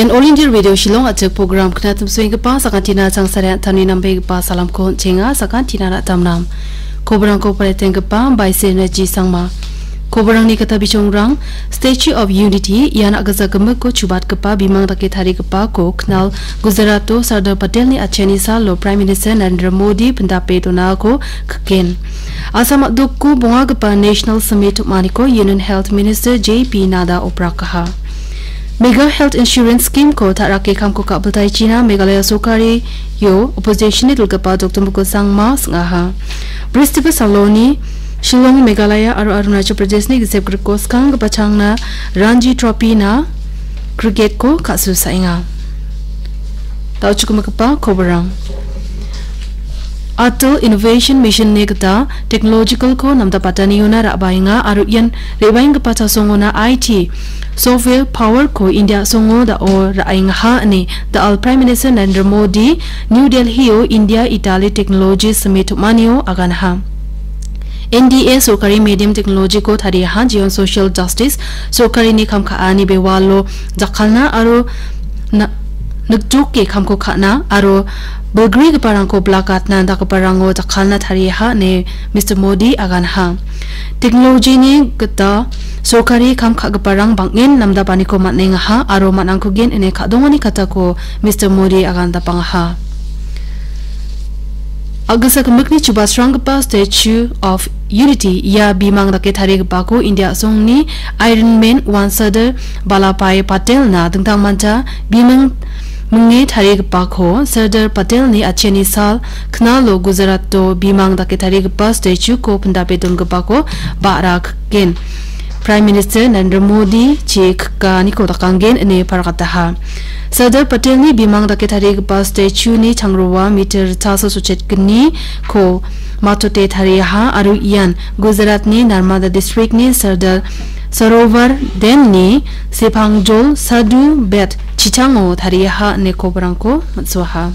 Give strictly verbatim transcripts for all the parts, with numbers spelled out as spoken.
En All India Radio Shillong a·chik program knatimsoenggipa sakantina changsare an·tangni nambegipa salamko on·chenga, sakantina ra·tamnam. Kobrangko paretenggipa Baise Naji Sangma. Kobrangni gita bichongrang, Statue of Unity, ian a·gija gimikko chubatgipa bimang dake tarigipako knal Gujarato Sardar Patelni acheni salo Prime Minister Narendra Modi pindape donako kiken. Assam a·doko bongagipa National Summit tom·aniko Union Health Minister J P Nadda oprakaha. Mega Health Insurance Scheme-ko ta·rake kamko ka·biltaichina Meghalaya sorkario opposition-ni dilgipa Doctor Mukul Sangma sing·aha. Bristiba saloni Shillong, Meghalaya aro Arunachal Pradeshni gisep griko skanggipa changna Ranji Trophy-na cricket-ko ka·susaenga. Da·o chukimigipa koborang. Atal Innovation Mission-ni gita technological-ko namdapataniona ra·baenga aro ian re·baenggipa chasongona I T software power-ko India a·songo da·o ra·engaha ine da·al Prime Minister Narendra Modi New Delhi-o India Italy Technology Summit tom·anio aganaha. N D A sorkari medium technology-ko tariaha, jeon social justice, sorkarini kam ka·ani bewalo jakkalna aro na-, nikjoke kamko ka·na aro bilgrigiparangko bilakatna dakgiparango jakkalna tariaha ine Mister Modi aganaha. Technology-ni gita sorkari kam ka·giparang bang·en namdapaniko man·engaha aro man·angkugen ine ka·dongani katako Mister Modi agandapangaha. A·gisa gimikni chubasranggipa Statue of Unity ia bimang dake tarigipako India a·songni Iron Man one Sardar Vallabhbhai Patelna dingtangmancha bimang minge tarigipako Sardar Patelni acheni sal knalo Gujarato bimang dake tarigipa statue-ko pindape dongipako ba·ra kiken. Prime Minister Narendra Modi chi kikaniko dakanggen ine pargataha. Sardar Patelni bimang dake tarigipa statue-ni changroa meter ritchasa sochetgniko matote tariaha aro ian Gujaratni Narmada District-ni Sardar Sarovar Dam-ni sepangjol Sadhu Bed chichango tariaha ine koborangko mitsoaha.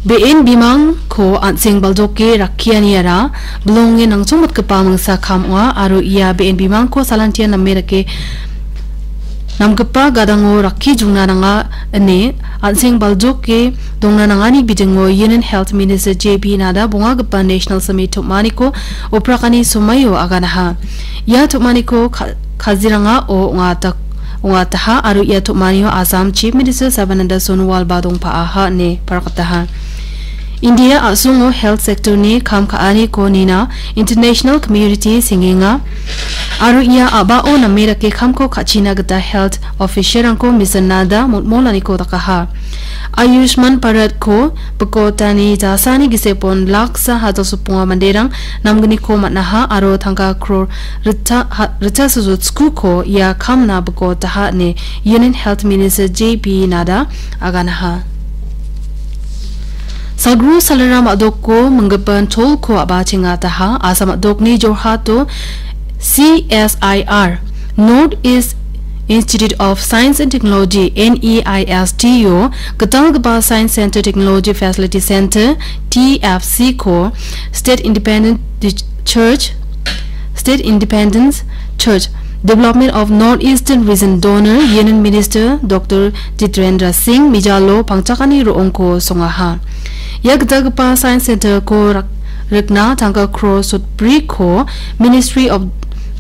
Be·en bimangko an·seng baljoke rakkianiara bilonge nangchongmotgipa mingsa kam ong·a aro ia be·en bimangko salantian name dake namgipa gadango rakki jongna nanga ine an·seng baljoke dongna nangani bidingo Union Health Minister J P Nadda bongagipa National Summit tom·aniko oprakani somaio aganaha. Ia tom·aniko ka-, kazirangao ong·ata-, ong·ataha aro ia tom·anio Assam Chief Minister Sarbananda Sonowal ba dongpa·aha ine pargataha. India a·songo health sector-ni kam ka·aniko nina international community sengenga aro ia a·bao name dake kamko ka·china gita health official-rangko Mister Nadda motmolaniko dakaha. Ayushman Bharat-ko bikotani jasani gisepon laksa hajalsoponga manderang namgniko man·aha aro tangka crore rita-, ha-, ritchasa jotskoko ia kamna bikotaha ine Union Health Minister J P Nadda aganaha. Sagru salaram a·doko minggipa tolko a·bachengataha. Assam a·dokni Jorhato C S I R, North East Institute of Science and Technology, N E I S T-o gitalgipa Science Center, Technology Facility Center, T F C-ko State Independent Church, State Independence Church, Development of North Eastern Region donor Union Minister Doctor Jitendra Singh mijalo pangchakani ro·ongko songaha. Ia gitalgipa Science Center-ko rak-, rikna tangka crore sotbriko Ministry of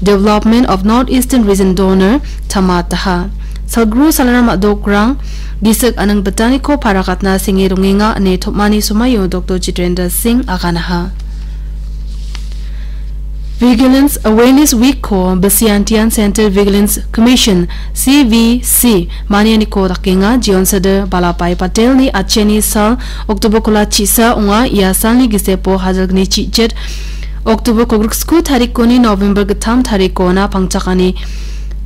Development of North Eastern Region donor tamataha. Sagru salaram a·dokrang gisik aning bitaniko parakatna senge dongenga ine tom·ani somaio Doctor Jitendra Singh aganaha. Vigilance Awareness Week-ko Bisiantian Center Vigilance Commission, C V C, manianiko dakenga. Jeon Sardar Vallabhbhai Patelni acheni sal October kola chisa ong·a. Ia salni gisepo hajalgni chichet October kogriksko tarikoni November gittam tarikona pangchakani,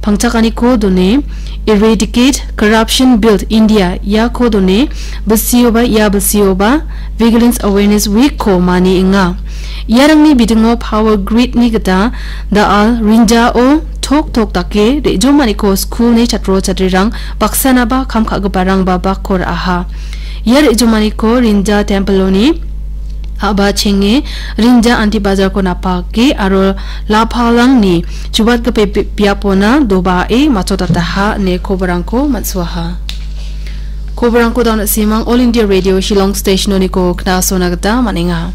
pangchakaniko done Eradicate Corruption Build India iako done bisioba ia bisioba Vigilance Awareness Week-ko manienga. Iarangni bidingo power grid-ni gita da·al rinjao tok tok dake re·jomaniko skulni chatro chatrirang baksanaba kam ka·giparangba bako ra·aha. Ia re·jomaniko rinja tempiloni ha·ba chenge Rinja Anti Bajarko napake aro Lapalangni chubatgipa bi-, biapona dobae matchotataha ine koborangko man·suaha. Koborangko daun simang All India Radio Shillong Stationoniko knasona gita man·enga.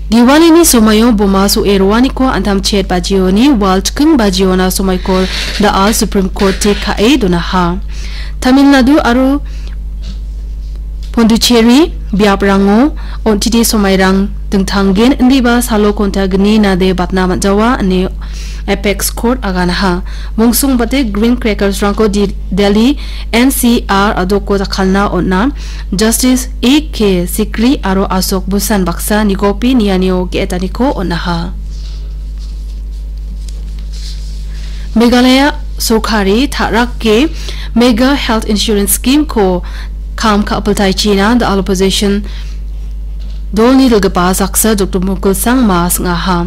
Diwalini somaio boma so·e roaniko antam chet bajioni wal chiking bajiona somaiko da·al Supreme Court-e ka·e donaha. Tamil Nadu aro Pondicherry biaprango on·titi somairang dingtanggen indiba salo konta gni nade batna man·jawa ine Apex Court aganaha. Mongsongbate Green Crackersrangko di-, Delhi N C R a·doko jakkalna on·a. Justice A K Sikri aro Ashok Bhushan baksa nikopi nianio ge·etaniko on·aha. Meghalaya sorkari ta·rake Mega Health Insurance Scheme-ko kam ka·piltaichina da·al opposition dolni dilgipa saksa Doktor Mukul Sangma sing·aha.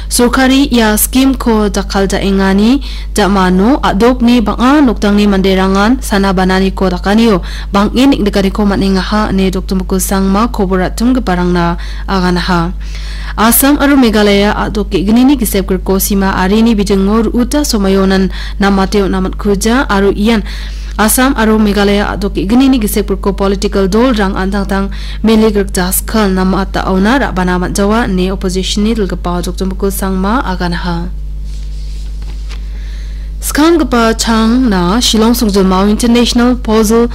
Sorkari ia scheme-ko jakkaljaengani ja·mano a·dokni bang·a nokdangni manderangan sana bananiko dakanio bang·en neng·nikaniko man·engaha ine Doktor Mukul Sangma kobor ra·tumgiparangna aganaha. Assam aro Meghalaya a·dok ge·gnini gisep griko sima arini bijingo ru·uta somaionan namate on·a man·kuja aro ian Assam aro Meghalaya a·dok ge·gnini gisep griko political dolrang an·tangtang mele grikja skal namata aona ra·bana man·jawa ine opposition-ni dilgipa Doktor Mukul Sangma aganaha. Skanggipa changna Shillong Songjinmao International Fossil,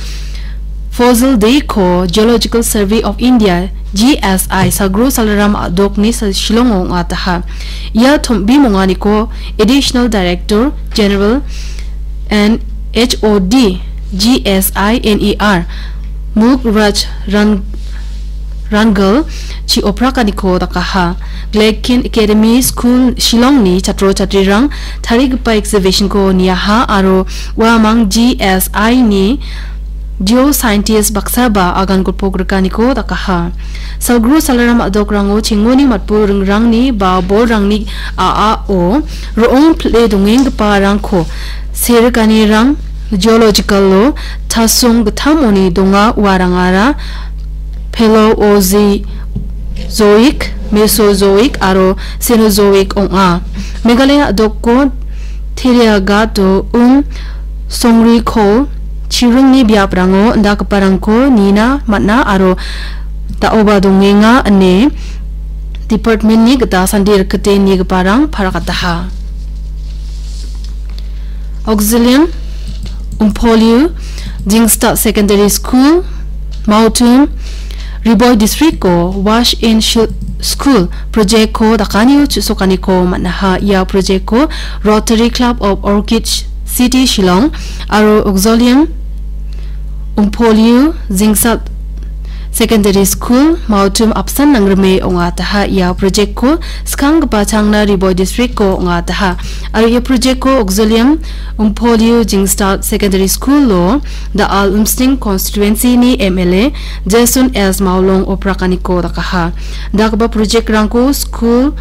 Fossil Day-ko Geological Survey of India, G S I, Sagro Salaram a·dokni sa-, Shillongo ong·ataha. Ia tombi monganiko Additional Director General and H O D, G S I N E R, Mukraj Ran-, Rangal chi oprakaniko dakaha. Glekin Academy School Shillongni chatro chatrirang tarigipa exhibition-ko niaha aro uamang G S I-ni geoscientist baksaba agan golpo grikaniko dakaha. Salgru Salaram a·dokrango chengoni matbu ringrangni ba bolrangni a·ao ro·ong pile dongenggiparangko serikanirang geological-o tasong gittamoni donga uarangara Paleozoic, Mesozoic aro Cenozoic ong·a. Meghalaya a·doko Teriagato, um, Songriko, chiringni biaprango indakgiparangko nina man·a aro da·oba dongenga ine department-ni gita sandi rikite nigiparang parakataha. Auxilium Umpoliu Jingstad Secondary School, Mautum, Ri Bhoi District-o Wash in Shi-, School project-ko dakanio chu·sokaniko man·aha. Ia project-ko Rotary Club of Orchid City Shillong aro Auxilium Umpoliu Jingstad Secondary School, Mautum apsan nangrime ong·ataha. Ia project-ko skanggipa changna Ri Bhoi District-ko ong·ataha. Aro ia project-ko Auxilium Umpoliu Jingstad Secondary School-o da·al Umsning Constituency-ni M L A Jason S Maulong oprakaniko dakaha. Dakgipa project-rangko school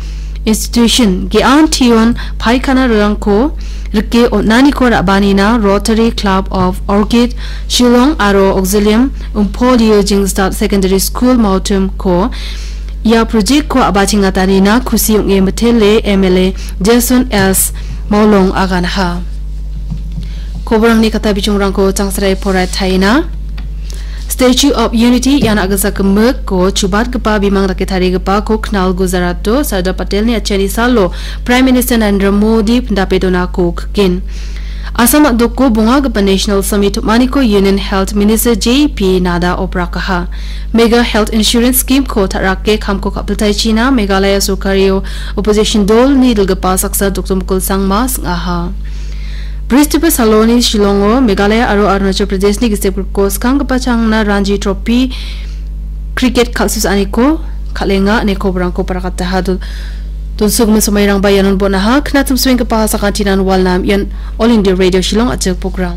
institution ge·an tion paikana rilangko rike on·aniko ra·banina Rotary Club of Orchid Shillong aro Auxilium Umpolio Jingstad Secondary School Mautum-ko ia project-ko a·bachengatanina kusi ong·e mitele M L A Jason S Maulong aganaha. Koborangni kata bijongrangko changsarai poraitaina. Statue of Unity ian a·gilsa gimikko chubatgipa bimang dake tarigipako knal Gujarato Sardar Patelni atchiani salo Prime Minister Narendra Modi pindape donako kikin. Assam a·doko bongagipa National Summit tom·aniko Union Health Minister J P Nadda oprakaha. Mega Health Insurance Scheme-ko ta·rake kamko ka·piltaichina Meghalaya sorkario opposition dolni dilgipa saksa Doktor Mukul Sangma sing·aha. Bristibar saloni Shillongo Meghalaya aro Arunachal Pradeshni gisep griko skanggipa changna Ranji Trophy cricket kal·susaaniko kal·enga ine koborangko parakataha. Don-, donsokgimin somairangba ianon bon·aha. Knatim suenggipa sakantinan walnam ian All India Radio Shillong a·chik program.